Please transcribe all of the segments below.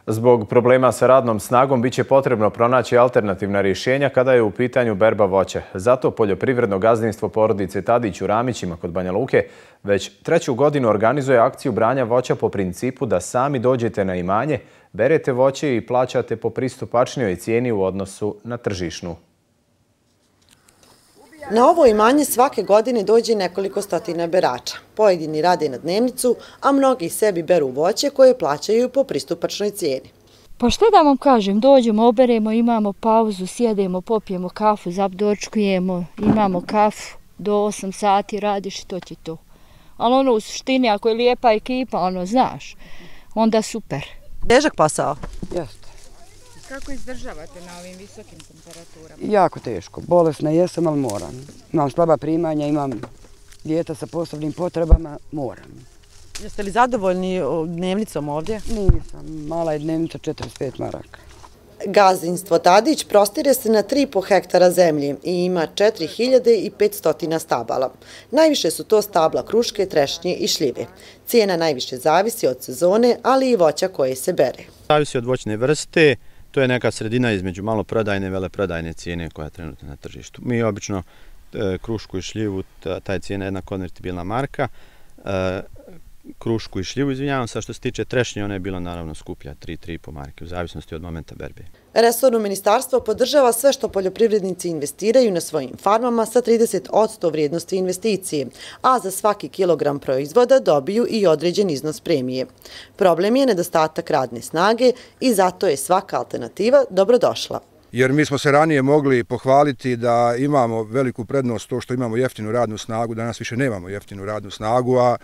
Zbog problema sa radnom snagom biće potrebno pronaći alternativna rješenja kada je u pitanju berba voća. Zato poljoprivredno gazdinstvo porodice Tadić u Ramićima kod Banja Luke već 3. godinu organizuje akciju branja voća po principu da sami dođete na imanje, berete voće i plaćate po pristupačnijoj cijeni u odnosu na tržišnu. Na ovo imanje svake godine dođe nekoliko stotina berača. Pojedini rade na dnevnicu, a mnogi sebi beru voće koje plaćaju po pristupačnoj cijeni. Pa što da vam kažem, dođemo, oberemo, imamo pauzu, sjedemo, popijemo kafu, dočkujemo, imamo kafu, do 8 sati radiš i to ti to. Ali u suštini, ako je lijepa ekipa, znaš, onda super. Težak posao? Jeste. Kako izdržavate na ovim visokim temperaturama? Jako teško. Bolesna jesam, ali moram. Imam slaba primanja, imam dijete sa posebnim potrebama, moram. Jeste li zadovoljni dnevnicom ovdje? Nisam. Mala je dnevnica 45 maraka. Gazdinstvo Tadić prostire se na 3,5 hektara zemlje i ima 4500 stabala. Najviše su to stabla kruške, trešnje i šljive. Cijena najviše zavisi od sezone, ali i voća koje se bere. Zavisi od voćne vrste. To je neka sredina između maloprodajne i veleprodajne cijene koja je trenutno na tržištu. Mi obično krušku i šljivu, ta je cijena jedna konvertibilna marka. Krušku i šljivu, izvinjavam se, što se tiče trešnje, ona je bila naravno skuplja, 3,5 marke, u zavisnosti od momenta berbe. Resorno ministarstvo podržava sve što poljoprivrednici investiraju na svojim farmama sa 30% vrijednosti investicije, a za svaki kilogram proizvoda dobiju i određen iznos premije. Problem je nedostatak radne snage i zato je svaka alternativa dobrodošla. Jer mi smo se ranije mogli pohvaliti da imamo veliku prednost to što imamo jeftinu radnu snagu, danas više nemamo jeftinu radnu snagu, a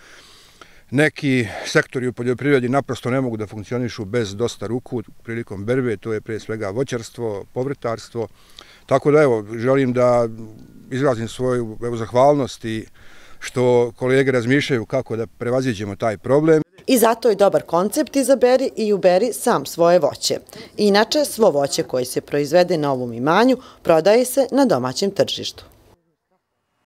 neki sektori u poljoprivredi naprosto ne mogu da funkcionišu bez dosta ruku prilikom berbe, to je prije svega voćarstvo, povrtarstvo. Tako da želim da izrazim svoju zahvalnost i što kolege razmišljaju kako da prevaziđemo taj problem. I zato je dobar koncept izaberi i uberi sam svoje voće. Inače, svo voće koje se proizvede na ovom imanju prodaje se na domaćem tržištu.